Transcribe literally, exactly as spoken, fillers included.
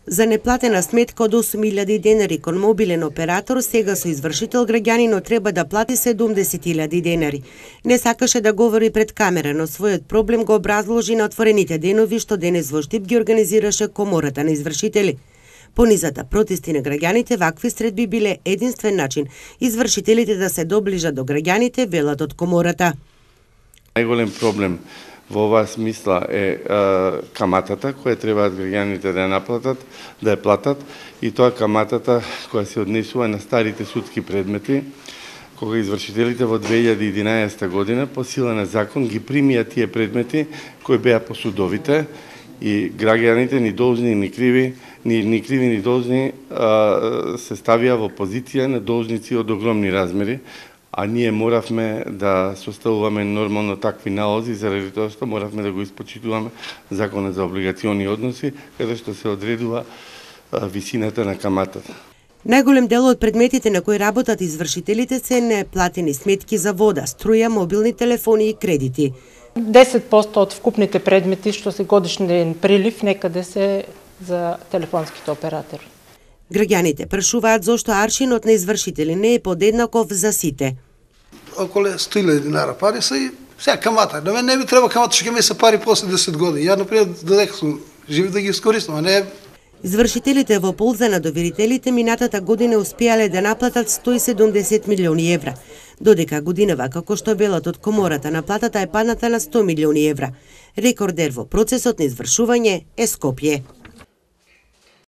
За неплатена сметка од осум илјади денари кон мобилен оператор, сега со извршител граѓанинот треба да плати седумдесет илјади денари. Не сакаше да говори пред камера, но својот проблем го образложи на отворените денови што денес во Штип ги организираше Комората на извршители. По низата протести на граѓаните, вакви средби биле единствен начин извршителите да се доближат до граѓаните, велат од Комората. Најголем проблем во оваа смисла е, е каматата која требаат граѓаните да ја наплатат, да ја платат, и тоа каматата која се однесува на старите судски предмети, кога извршителите во две илјади и единаесетта година по сила на закон ги примија тие предмети кои беа по судовите, и граѓаните ни должни ни криви, ни, ни криви ни должни а, се ставија во позиција на должници од огромни размери, а ние моравме да составуваме нормално такви налози, заради тоа што моравме да го испочитуваме Законот за облигациони односи, каде што се одредува а, висината на каматата. Најголем дел од предметите на кои работат извршителите се неплатени сметки за вода, струја, мобилни телефони и кредити. десет проценти од вкупните предмети што се годишен прилив некаде се за телефонските оператори. Граѓаните прашуваат зошто аршинот на извршители не е подеднаков за сите. Околу сто илјади динара пари се и сега камата. На мен не би треба камата, што ќе ми се пари после десет години. Ја, например, додека сум жив да ги искористам, а не... Извршителите во полза на доверителите минатата година успеале да наплатат сто и седумдесет милиони евра, додека годинава, како што велат од Комората, наплатата е падната на сто милиони евра. Рекордер во процесот на извршување е Скопје.